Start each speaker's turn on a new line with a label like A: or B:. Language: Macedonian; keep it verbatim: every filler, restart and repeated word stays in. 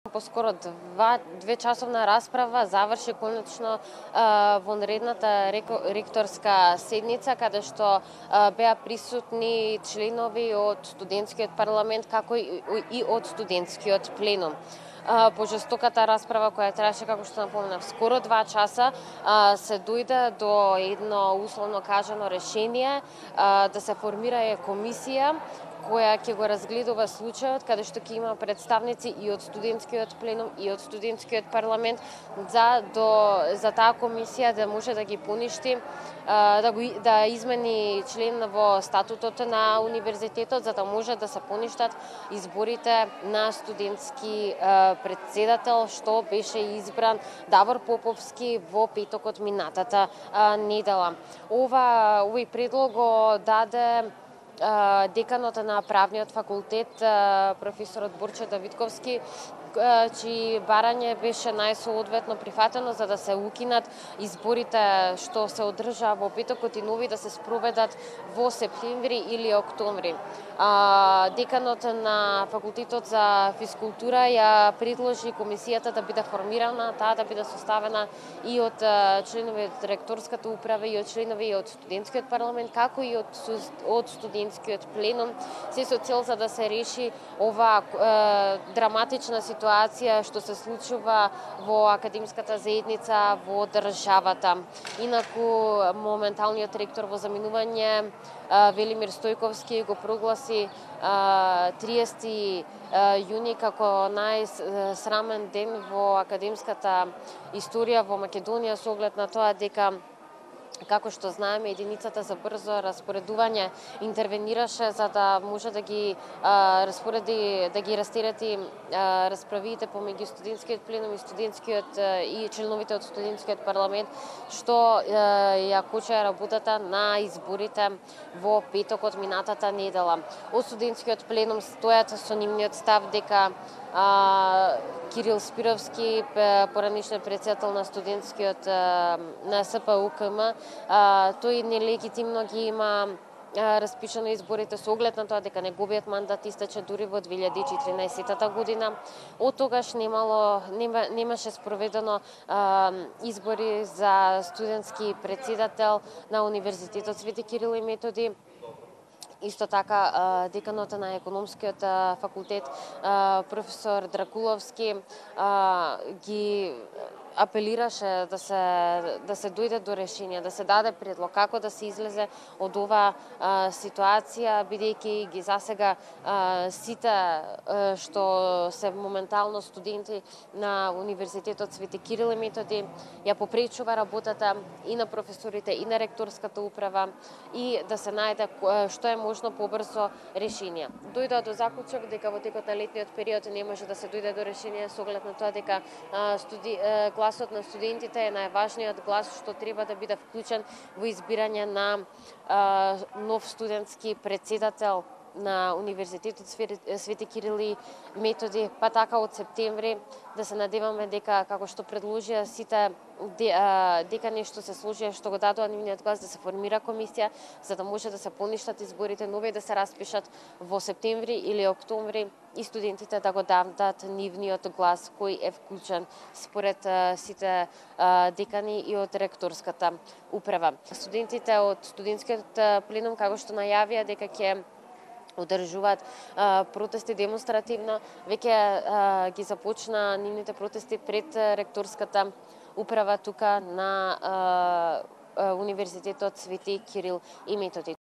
A: Поскоро два, две часовна расправа заврши конечно вонредната ректорска седница, каде што а, беа присутни членови од студентскиот парламент, како и, и од студентскиот пленум. По жестоката расправа која траеше, како што напоменав, скоро два часа, а, се дојде до едно условно кажано решение а, да се формира комисија која ќе го разгледува случајот, каде што ќе има представници и од студентскиот пленум и од студентскиот парламент за до за таа комисија да може да ги поништи, да го да измени член во статутот на универзитетот, за да може да се поништат изборите на студентски претседател, што беше избран Давор Поповски во петокот минатата недела. Ова овој предлог го даде деканот на правниот факултет, професорот Борче Давидковски, чии барање беше најсоодветно прифатено за да се укинат изборите што се одржаа во петокот и нови да се спроведат во септември или октомври. Деканот на факултетот за физкултура ја предложи комисијата да биде формирана, таа да биде составена и од членови од ректорската управа и од членови од студентскиот парламент, како и од од студентскиот пленум, се со цел за да се реши ова драматична ситуација ситуација што се случува во академската заедница во државата. Инаку моменталниот ректор во заминување Велимир Стојковски го прогласи триесети јуни како најсрамен ден во академската историја во Македонија, со оглед на тоа дека, како што знаеме, единицата за брзо распоредување интервенираше за да може да ги а, распореди, да ги растерети а, расправите помеѓу студентскиот пленум и студентскиот а, и членовите од студентскиот парламент, што а, ја коча работата на изборите во петокот минатата недела. Од студентскиот пленум стојат со нивниот став дека А, Кирил Спировски, поранишниот претседател на студентскиот на СПУКМ, тој нелегитимно ги има распишано изборите со оглед на тоа дека неговиот мандат истече дури во две илјади и четиринаесетта година. Од тогаш немало нема, немаше спроведено а, избори за студентски претседател на Универзитетот Свети Кирил и Методи. Исто така, деканот на економскиот факултет, професор Дракуловски, ги апелираше да се да се дојде до решение, да се даде предлог како да се излезе од ова а, ситуација, бидејќи ги засега а, сите а, што се моментално студенти на Универзитетот Свети Кирил и Методи ја попречува работата и на професорите и на ректорската управа и да се најде што е можно побрзо решение. Дојдоа до заклучок дека во текот на летниот период не може да се дојде до решение со оглед на тоа дека а, студи, а, гласот на студентите е најважниот глас што треба да биде вклучен во избирање на а, нов студентски претседател на Универзитетот Свети Кирил и Методи, па така од септември да се надеваме дека, како што предложија сите дека нешто се сложи што го дадоа нивниот глас, да се формира комисија за да може да се поништат изборите, нови да се распишат во септември или октомври и студентите да го дадат нивниот глас кој е вклучен според сите декани и од ректорската управа. Студентите од студентскиот пленум, како што најавија дека ќе одржуваат а, протести демонстративно, веќе ги започна нивните протести пред ректорската управа тука на а, а, Универзитетот Свети Кирил и Методи.